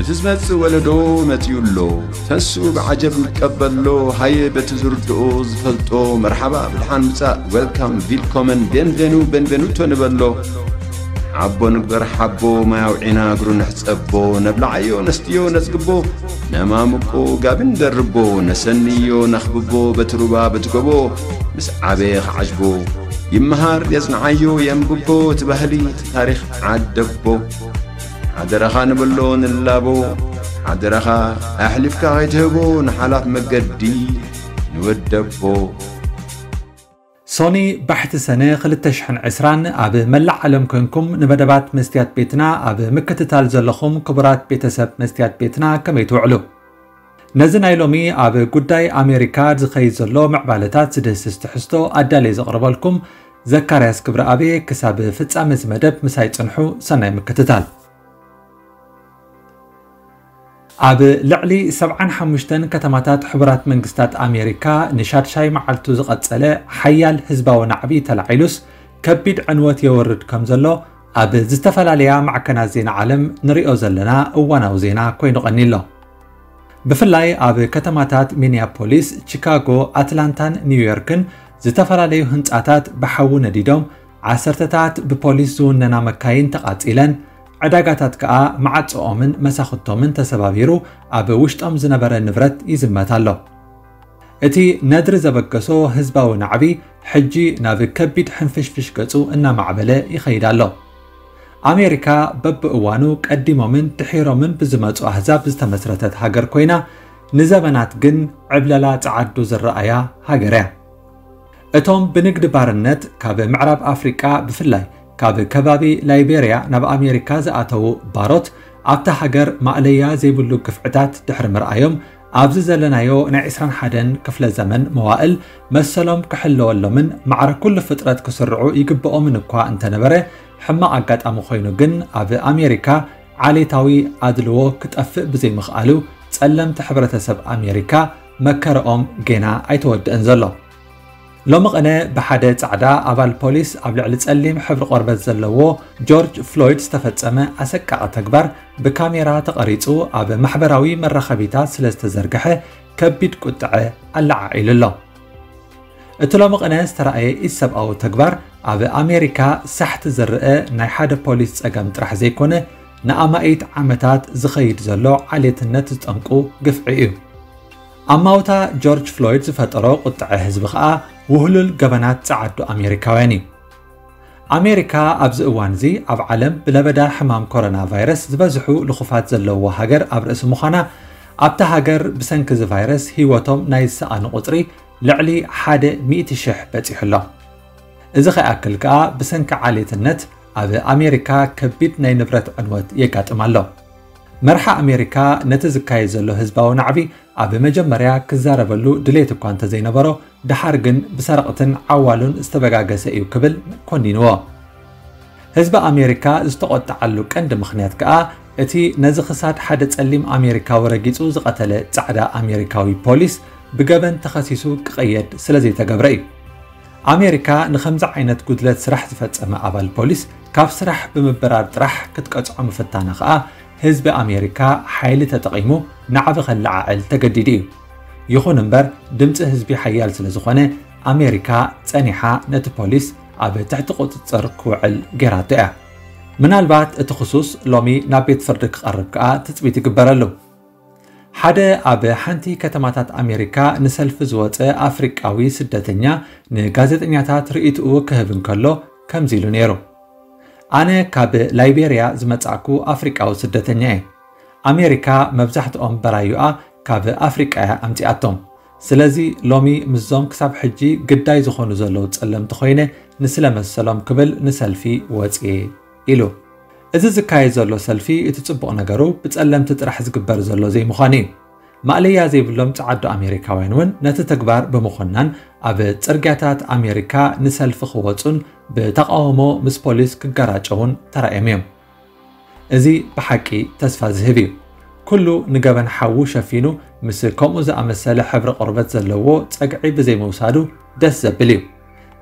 እቲ ዝመጽእ ወለዶ መጺኡ ኣሎ። ተስኡ ብዓጀብ ይቀበሎ። ሃየ በቲ ዝርድኦ ዝፈልጦ መርሓባ ብድሓን ምጻእ፣ ዌልካም፣ ቪልኮመን፣ ቤንቬኑ፣ ቤንቬኑቶ ንበሎ። ሓቦ ንግበር ሓቦ፣ ማይ ኣውዒና እግሩ ንሕጸቦ። ነብልዓዮ ነስትዮ ነጽግቦ፣ ነማምቆ ጋቢ ንደርቦ። ነሰንዮ ነኽብቦ በቲ ሩባ በቲ ጎቦ። ምስ ዓበየ ክዓጅቦ ይመሃር የጽንዓዮ የንብቦ። እቲ ባህሊ እቲ ታሪኽ ዓደቦ። ሓደራኻ ንብሎ ንላቦ። ሓደራኻ ኣሕሊፍካ ከይትህቦ ንሓላፍ መገዲ ንወደቦ። ሶኒ ባሕቲ ሰነ ክልተ ሽሕን ዕስራን ኣብ መላእ ዓለም ኮንኩም ንመደባት መስትያት ቤትና ኣብ ምክትታል ዘለኹም ክቡራት ቤተሰብ መስትያት ቤትና ከመይ ትውዕሉ? ነዚ ናይ ሎሚ ኣብ ጉዳይ ኣሜሪካ ዝኸይድ ዘሎ ምዕባለታት ዝድህስስ ትሕዝቶ ኣዳልየ ዘቕርበልኩም ዘካርያስ ክብረኣብ እየ። ክሳብ ፍጻመ እዚ መደብ ምሳይ ጽንሑ። ሰናይ ምክትታል። ኣብ ልዕሊ ሰብዓን ሓሙሽተን ከተማታት ሕቡራት መንግስታት ኣሜሪካ ንሻድሻይ መዓልቱ ዝቐጸለ ሓያል ህዝባዊ ናዕቢ ተላዒሉስ ከቢድ ዕንወት የወርድ ከም ዘሎ ኣብ ዝተፈላለያ ማዕከናት ዜና ዓለም ንሪኦ ዘለና እዋናዊ ዜና ኮይኑ ቀኒሎ። ብፍላይ ኣብ ከተማታት ሚኒያፖሊስ፣ ቺካጎ፣ ኣትላንታን ኒውዮርክን ዝተፈላለዩ ህንጻታት ብሓዊ ነዲዶም፣ ዓሰርተታት ብፖሊስ ዝውነና መካይን ተቓጺለን፣ ዕዳጋታት ከኣ መዓጽኦምን መሳኹቶምን ተሰባቢሩ ኣብ ውሽጦም ዝነበረ ንብረት ይዝመት ኣሎ። እቲ ነድሪ ዘበገሶ ህዝባዊ ናዕቢ ሕጂ ናብ ከቢድ ሕንፍሽፍሽ ገጹ እናማዕበለ ይኸይድ ኣሎ። ኣሜሪካ በብእዋኑ ቀዲሞምን ድሒሮምን ብዝመጹ ኣህዛብ ዝተመስረተት ሃገር ኮይና፣ ንዘበናት ግን ዕብለላ ጸዓዱ ዝረኣያ ሃገር እያ። እቶም ብንግዲ ባርነት ካብ ምዕራብ ኣፍሪቃ ብፍላይ ካብ ከባቢ ላይቤርያ ናብ ኣሜሪካ ዝኣተዉ ባሮት ኣብታ ሃገር ማእለያ ዘይብሉ ግፍዕታት ድሕሪ ምርኣዮም ኣብዚ ዘለናዮ ናይ ዕስራን ሓደን ክፍለ ዘመን መዋእል መሰሎም ክሕለወሎምን ማዕረ ኩሉ ፍጥረት ክስርዑ ይግብኦምን እኳ እንተነበረ ሕማቕ ኣጋጣሚ ኮይኑ ግን ኣብ ኣሜሪካ ዓሌታዊ ኣድልዎ ክጠፍእ ብዘይምኽኣሉ ጸለምቲ ሕብረተሰብ ኣሜሪካ መከረኦም ጌና ኣይተወድእን ዘሎ። ሎሚ ቕነ ብሓደ ጻዕዳ ኣባል ፖሊስ ኣብ ልዕሊ ጸሊም ሕብሪ ቆርበት ዘለዎ ጆርጅ ፍሎይድ ዝተፈጸመ ኣሰቃቒ ተግባር ብካሜራ ተቐሪጹ ኣብ ማሕበራዊ መራኸቢታት ስለ ዝተዘርግሐ ከቢድ ቁጥዐ ኣለዓዒሉ ኣሎ። እቲ ሎሚ ቕነ ዝተራእየ ኢሰብኣዊ ተግባር ኣብ ኣሜሪካ ሳሕቲ ዝረአ ናይ ሓደ ፖሊስ ጸገም ጥራሕ ዘይኮነ ንኣማኢት ዓመታት ዝኸይድ ዘሎ ዓሌትነት ዝጠንቁ ግፍዒ እዩ። ኣማውታ ጆርጅ ፍሎይድ ዝፈጠሮ ቁጥዐ ህዝቢ ከኣ ውህሉል ገበናት ጸዓዱ ኣሜሪካውያን እዩ። ኣሜሪካ ኣብዚ እዋን እዚ ኣብ ዓለም ብለበዳ ሕማም ኮሮና ቫይረስ ዝበዝሑ ልኹፋት ዘለውዋ ሃገር ኣብ ርእሲ ምዃና ኣብታ ሃገር ብሰንኪ እዚ ቫይረስ ህይወቶም ናይ ዝሰኣኑ ቁጽሪ ልዕሊ ሓደ ሚእቲ ሽሕ በጺሑ ኣሎ። እዚ ከይኣክል ከኣ ብሰንኪ ዓሌትነት ኣብ ኣሜሪካ ከቢድ ናይ ንብረት ዕንወት የጋጥም ኣሎ። መርሓ ኣሜሪካ ነቲ ዝካየድ ዘሎ ህዝባዊ ናዕቢ ኣብ መጀመርያ ክዛረበሉ ድሌት እኳ እንተዘይነበሮ ድሓር ግን ብሰረቕትን ዓዋሉን ዝተበጋገሰ እዩ ክብል ኮኒንዎ። ህዝቢ ኣሜሪካ ዝተቖጠዓሉ ቀንዲ ምኽንያት ከኣ እቲ ነዚ ክሳድ ሓደ ጸሊም ኣሜሪካዊ ረጊጹ ዝቐተለ ጻዕዳ ኣሜሪካዊ ፖሊስ ብገበን ተኸሲሱ ክቐየድ ስለዘይተገብረ እዩ። ኣሜሪካ ንኸምዚ ዓይነት ጉድለት ስራሕ ዝፈጸመ ኣባል ፖሊስ ካብ ስራሕ ብምብራር ጥራሕ ክትቀጽዖ ምፍታና ከኣ ህዝቢ ኣሜሪካ ሓይሊ ተጠቒሙ ናዕቢ ከለዓዕል ተገዲዱ እዩ። ይኹን እምበር ድምፂ ህዝቢ ሓያል ስለዝኾነ ኣሜሪካ ፀኒሓ ነቲ ፖሊስ ኣብ ትሕቲ ቁፅፅር ክውዕል ገይራቶ እያ። ምናልባት እቲ ክሱስ ሎሚ ናብ ቤት ፍርዲ ክቐርብ ከኣ ትፅቢት ይግበረሉ። ሓደ ኣብ ሓንቲ ከተማታት ኣሜሪካ ንሰልፊ ዝወፀ ኣፍሪቃዊ ስደተኛ ንጋዜጠኛታት ርእይትኡ ክህብ እንከሎ ከምዚ ኢሉ ነይሩ። ኣነ ካብ ላይቤርያ ዝመጻእኩ ኣፍሪቃዊ ስደተኛ እየ። ኣሜሪካ መብዛሕትኦም በራዩኣ ካብ ኣፍሪቃ እያ ኣምጺኣቶም። ስለዚ ሎሚ ምስዞም ክሳብ ሕጂ ግዳይ ዝኾኑ ዘለዉ ጸለምቲ ኮይነ ንስለ መሰሎም ክብል ንሰልፊ ወጽየ ኢሉ። እዚ ዝካየድ ዘሎ ሰልፊ እቲ ጽቡቕ ነገሩ ብጸለምቲ ጥራሕ ዝግበር ዘሎ ዘይምዃኑ እዩ። ማእለያ ዘይብሎም ጸዓዱ ኣሜሪካውያን እውን ነቲ ተግባር ብምኹናን ኣብ ጽርግያታት ኣሜሪካ ንሰልፊ ክወጹን ብተቓውሞ ምስ ፖሊስ ክገራጨውን ተራእዮም እዮም። እዚ ብሓቂ ተስፋ ዝህብ እዩ። ኩሉ ንገበን ሓዉ ሸፊኑ ምስ ከምኡ ዝኣመሰለ ሕብሪ ቆርበት ዘለዎ ጸግዒ ብዘይምውሳዱ ደስ ዘብል እዩ።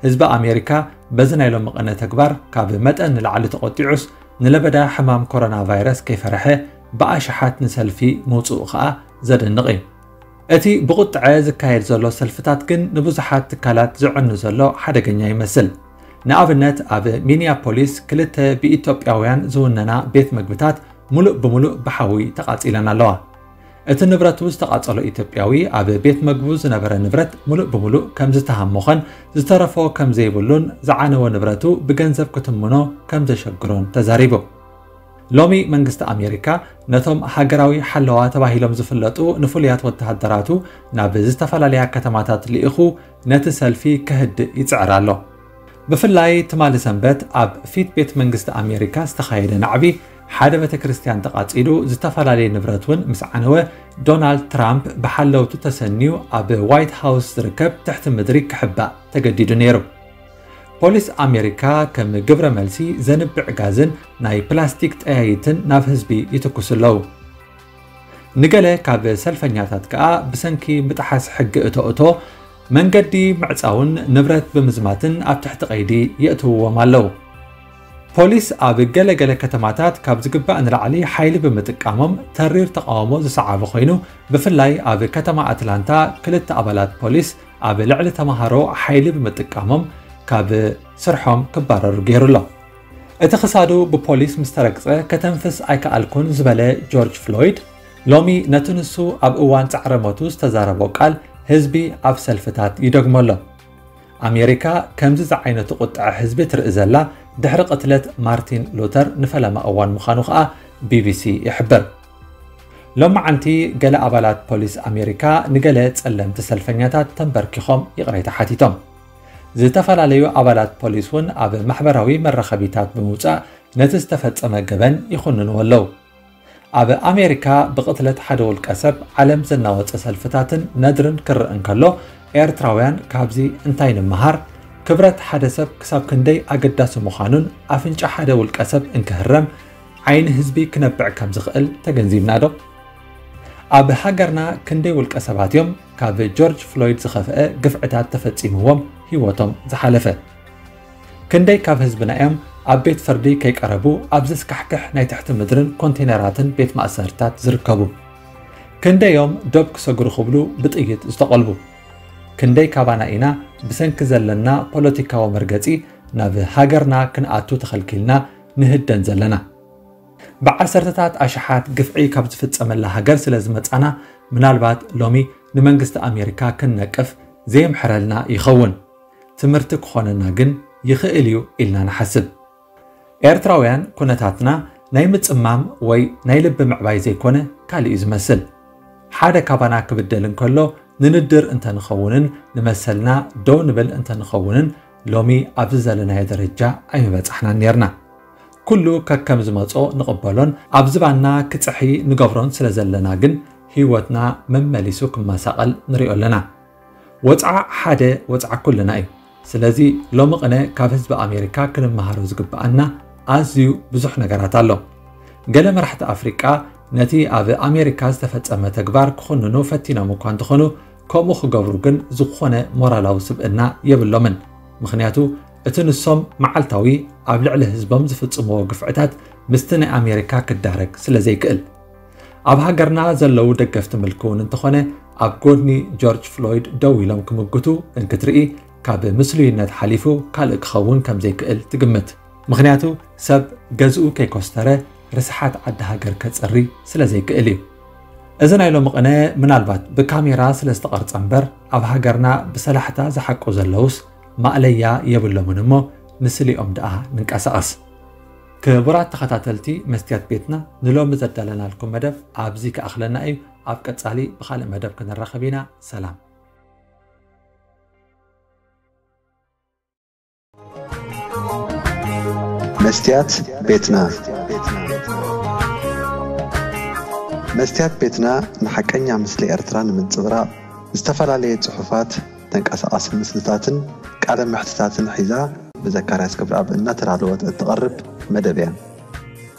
ህዝቢ ኣሜሪካ በዚ ናይ ሎሚ ቅነ ተግባር ካብ መጠን ንላዕሊ ተቖጢዑስ ንለበዳ ሕማም ኮሮና ቫይረስ ከይፈረሐ ብኣሽሓት ንሰልፊ ምውጽኡ ከኣ ዘደንቕ እዩ። እቲ ብቑጥዐ ዝካየድ ዘሎ ሰልፍታት ግን ንብዙሓት ትካላት ዝዕኑ ዘሎ ሓደገኛ ይመስል። ንኣብነት፣ ኣብ ሚኒያፖሊስ ክልተ ብኢትዮጵያውያን ዝውነና ቤት መግብታት ሙሉእ ብሙሉእ ብሓዊ ተቓጺለን ኣለዋ። እቲ ንብረቱ ዝተቓጸሎ ኢትዮጵያዊ፣ ኣብ ቤት መግቡ ዝነበረ ንብረት ሙሉእ ብሙሉእ ከም ዝተሃሞኸን ዝተረፎ ከም ዘይብሉን ዝዓነወ ንብረቱ ብገንዘብ ክትምኖ ከም ዘሸግሮን ተዛሪቡ። ሎሚ መንግስቲ ኣሜሪካ ነቶም ሃገራዊ ሓለዋ ተባሂሎም ዝፍለጡ ንፍሉያት ወተሃደራቱ ናብ ዝተፈላለያ ከተማታት ልኢኹ ነቲ ሰልፊ ከህድእ ይጽዕር ኣሎ። ብፍላይ ትማሊ ሰንበት ኣብ ፊት ቤት መንግስቲ ኣሜሪካ ዝተኻየደ ናዕቢ ሓደ ቤተ ክርስቲያን ተቓጺሉ፣ ዝተፈላለየ ንብረት እውን ምስ ዓነወ፣ ዶናልድ ትራምፕ ብሓለውቱ ተሰንዩ ኣብ ዋይት ሃውስ ዝርከብ ትሕቲ ምድሪ ክሕባእ ተገዲዱ ነይሩ። ፖሊስ ኣሜሪካ ከም ግብረ መልሲ ዘንብዕ ጋዝን ናይ ፕላስቲክ ጠያይትን ናብ ህዝቢ ይትኩሱ ኣለዉ። ንገለ ካብ ሰልፈኛታት ከኣ ብሰንኪ ምጥሓስ ሕጊ እቶ እቶ መንገዲ ምዕጻውን ንብረት ብምዝማትን ኣብ ትሕቲ ቀይዲ የእትውዎም ኣለዉ። ፖሊስ ኣብ ገለ ገለ ከተማታት ካብ ዝግባእ ንላዕሊ ሓይሊ ብምጥቃሞም ተሪር ተቃውሞ ዝሰዓበ ኮይኑ፣ ብፍላይ ኣብ ከተማ ኣትላንታ ክልተ ኣባላት ፖሊስ ኣብ ልዕሊ ተማሃሮ ሓይሊ ብምጥቃሞም ካብ ስርሖም ክባረሩ ገይሩ ኣሎ። እቲ ክሳዱ ብፖሊስ ምስ ተረግጸ፣ "ከተንፍስ ኣይከኣልኩን" ዝበለ ጆርጅ ፍሎይድ፣ ሎሚ ነቲ ንሱ ኣብ እዋን ጻዕረ ሞቱ ዝተዛረቦ ቃል ህዝቢ ኣብ ሰልፍታት ይደግሞ ኣሎ። ኣሜሪካ ከምዚ ዝዓይነቱ ቁጥዐ ህዝቢ ትርኢ ዘላ ድሕሪ ቅትለት ማርቲን ሉተር ንፈለማ እዋን ምዃኑ ከኣ ቢቢሲ ይሕብር። ሎማዓንቲ ገለ ኣባላት ፖሊስ ኣሜሪካ ንገለ ጸለምቲ ሰልፈኛታት ተንበርኪኾም ይቕሬታ ሓቲቶም። ዝተፈላለዩ ኣባላት ፖሊስ እውን ኣብ ማሕበራዊ መራኸቢታት ብምውጻእ ነቲ ዝተፈጸመ ገበን ይኹንንዎ ኣለዉ። ኣብ ኣሜሪካ ብቕትለት ሓደ ውልቀ ሰብ ዓለም ዘናወጸ ሰልፍታትን ነድርን ክረአ እንከሎ፣ ኤርትራውያን ካብዚ እንታይ ንምሃር? ክብረት ሓደ ሰብ ክሳብ ክንደይ ኣገዳሲ ምዃኑን ኣፍንጫ ሓደ ውልቀ ሰብ እንክህረም ዓይኒ ህዝቢ ክነብዕ ከም ዝኽእል ተገንዚብና ዶ? ኣብ ሃገርና ክንደይ ውልቀ ሰባት እዮም ካብ ጆርጅ ፍሎይድ ዝኸፍአ ግፍዕታት ተፈጺምዎም ህይወቶም ዝሓለፈ? ክንደይ ካብ ህዝብና እዮም ኣብ ቤት ፍርዲ ከይቀረቡ ኣብ ዘስካሕክሕ ናይ ትሕቲ ምድርን ኮንቴነራትን ቤት ማእሰርታት ዝርከቡ? ክንደዮም ዶብ ክሰግሩ ክብሉ ብጥይት ዝተቐልቡ? ክንደይ ካባና ኢና ብሰንኪ ዘለና ፖለቲካዊ መርገጺ ናብ ሃገርና ክንኣቱ ተኸልኪልና ንህደን ዘለና? ብዓሰርተታት ኣሽሓት ግፍዒ ካብ ዝፍጸመላ ሃገር ስለ ዝመጻና፣ ምናልባት ሎሚ ንመንግስቲ ኣሜሪካ ክንነቅፍ ዘየምሕረልና ይኸውን። ትምህርቲ ክኾነና ግን ይኽእል እዩ ኢልና ንሓስብ። ኤርትራውያን ኩነታትና ናይ ምጽማም ወይ ናይ ልቢ ምዕባይ ዘይኮነ ካልእ እዩ ዝመስል። ሓደ ካባና ክብደል እንከሎ ንንድር እንተንኸውንን ንመሰልና ደው ንብል እንተንኸውንን ሎሚ ኣብዚ ዘለናዮ ደረጃ ኣይምበጻሕናን ኔርና። ኩሉ ከከም ዝመጾ ንቕበሎን ኣብ ዝባንና ክጽሒ ንገብሮን ስለ ዘለና ግን ህይወትና መመሊሱ ክመሳቐል ንሪኦ ኣለና። ወጽዓ ሓደ ወጽዓ ኩልና እዩ። ስለዚ ሎሚ ቅነ ካብ ህዝቢ ኣሜሪካ ክንመሃሮ ዝግብኣና ኣዝዩ ብዙሕ ነገራት ኣሎ። ገለ መራሕቲ ኣፍሪቃ ነቲ ኣብ ኣሜሪካ ዝተፈጸመ ተግባር ክኹንኑ ፈቲኖም እኳ እንተኾኑ፣ ከምኡ ክገብሩ ግን ዝኾነ ሞራላዊ ስብእና የብሎምን። ምኽንያቱ እቲ ንሶም መዓልታዊ ኣብ ልዕሊ ህዝቦም ዝፍጽምዎ ግፍዕታት ምስቲ ናይ ኣሜሪካ ክዳረግ ስለ ዘይክእል። ኣብ ሃገርና ዘለዉ ደገፍቲ ምልኪ እውን እንተኾነ ኣብ ጎድኒ ጆርጅ ፍሎይድ ደው ኢሎም ክምግቱ እንክትርኢ ካብ ምስሉይነት ሓሊፉ ካልእ ክኸውን ከም ዘይክእል ትግምት። ምኽንያቱ ሰብ ገዝኡ ከይኮስተረ ርስሓት ዓዲ ሃገር ከጽሪ ስለ ዘይክእል እዩ። እዚ ናይ ሎሚ ቅነ ምናልባት ብካሜራ ስለ ዝተቐርጸ እምበር ኣብ ሃገርና ብሰላሕታ ዝሓቁ ዘለዉስ ማእለያ የብሎምን እሞ ንስሊኦም ደኣ ንንቀሳቐስ። ክቡራት ተኸታተልቲ መስትያት ቤትና ንሎሚ ዘዳለናልኩም መደብ ኣብዚ ክኣኽለና እዩ። ኣብ ቀጻሊ ብኻልእ መደብ ክንራኸብ ኢና። ሰላም። መስትያት ቤትና። መስትያት ቤትና ንሓቀኛ ምስሊ ኤርትራ ንምንጽብራቕ ዝተፈላለየ ጽሑፋት፣ ተንቀሳቓሲ ምስልታትን ቃለ መሕትታትን ሒዛ ብዘካርያስ ገብረኣብ እናተዳለወት እትቐርብ መደብ እያ።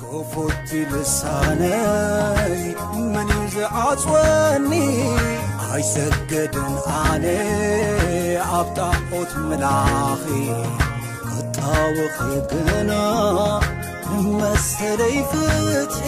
ክፉት ልሳነይ መን እዩ ዝዓጽወኒ? ኣይሰገድን ኣነ ኣብ ጣዖት ምላኺ ክጣወኺ ግና መሰለይ ፍትሒ